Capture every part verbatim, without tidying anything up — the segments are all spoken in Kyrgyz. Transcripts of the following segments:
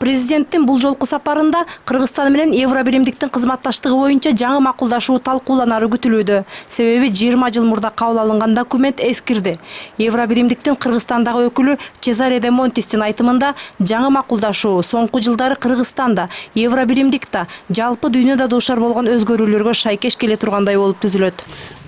Президенттин бул жолку сапарында Кыргызстан менен Евробиримдиктин кызматташтыгы боюнча жаңы макулдашуу талкууланары күтүлүүдө. Себеби жыйырма жыл мурда кабыл алынган документ эскирди. Евробиримдиктин Кыргызстандагы өкүлү Чезаре де Монтистин айтымында жаңы макулдашуу соңку жылдары Кыргызстанда, Евробиримдикте, жалпы дүйнөдө дуушар болгон өзгөрүүлөргө шайкеш келе тургандай болуп түзүлөт.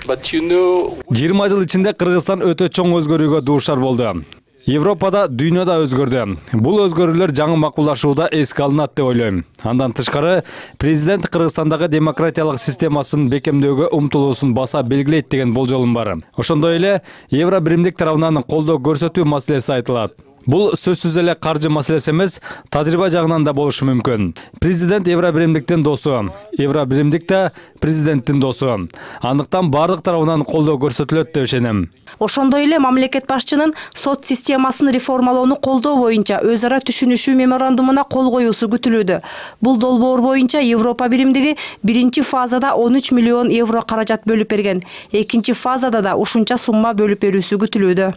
жыйырма жыл ичинде Кыргызстан өтө чоң өзгөрүүгө дуушар болду. Европада, дүйнөдө өзгөрдү. Бул өзгөрүүлөр жаңы макулдашууда эске алынат деп ойлойм. Андан тышкары, президент Кыргызстандагы демократиялык системасын бекемдөөгө умтулуусун баса белгилейт деген болжолум бар. Ошондой эле Евробиримдик тарабынан колдоо көрсөтүү маселеси айтылат. Бул сөзсүз эле каржы маселеси эмес, тажрыйба жагынан да болушу мүмкүн. Президент Евробиримдиктин досу, Евробиримдикте президенттин досу. Андыктан бардык тарабынан колдоо көрсөтүлөт деп ишенем. Ошондой эле мамлекет башчынын сот системасын реформалоону колдоо боюнча өз ара түшүнүшүү меморандумуна кол коюусу күтүлүүдө. Бул долбоор боюнча Европа биримдиги биринчи фазада он үч миллион евро каражат бөлүп берген. Экинчи фазада да ушунча сумма бөлүп берүүсү күтүлүүдө.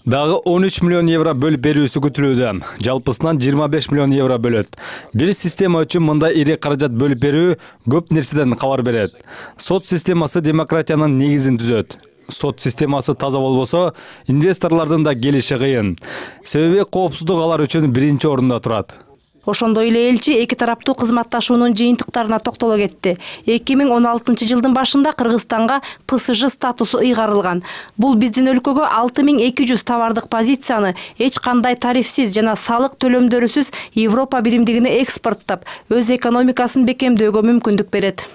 Дагы он үч миллион евро бөлүп берүүсү күтүлүүдө. Жалпысынан жыйырма беш миллион евро бөлөт. Бир система үчүн мындай ири каражат бөлүп берүү көп нерседен кабар берет. Сот системасы демократиянын негизин түзөт. Сот системасы таза болбосо, инвесторлордун да келиши кыйын. Себеби коопсуздук алар үчүн биринчи орунда турат. Ошондой эле элчи эки тараптуу кызматташуунун жыйынтыктарына токтоло кетти. эки миң он алтынчы жылдын башында Кыргызстанга П С Ж статусу ыйгарылган. Бул биздин өлкөгө алты миң эки жүз товардык позицияны эч кандай тарифсиз жана салык төлөмдөрүсүз Европа биримдигине экспорттоп, өз экономикасын бекемдөөгө мүмкүндүк берет.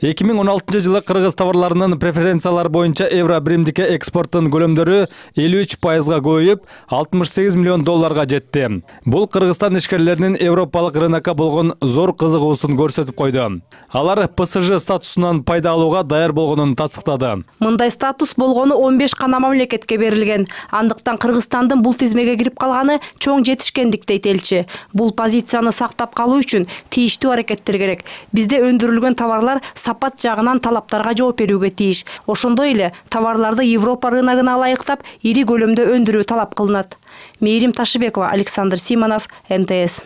эки миң он алтынчы жылы кыргыз товарларынын преференциялары боюнча Евробиримдикке экспорттун көлөмдөрү элүү үч пайызга көбөйүп, алтымыш сегиз миллион долларга жетти. Бул Кыргызстан ишкерлеринин европалык рынокко болгон зор кызыгуусун көрсөтүп койду. Алар П С Ж статусунан пайда алууга даяр болгонун тастыктады. Мындай статус болгону он беш гана мамлекетке берилген. Андыктан Кыргызстандын бул тизмеге кирип калганы чоң жетишкендик дейт элчи. Бул позицияны сактап калуу үчүн тийиштүү аракеттер керек. Бизде өндүрүлгөн товарлар сапат жагынан талаптарга жооп берүүгө тийиш. Ошондой эле товарларды Европа рыногуна ылайыктап, ири көлөмдө өндүрүү талап кылынат. Мээрим Ташыбекова, Александр Симонов, Н Т С.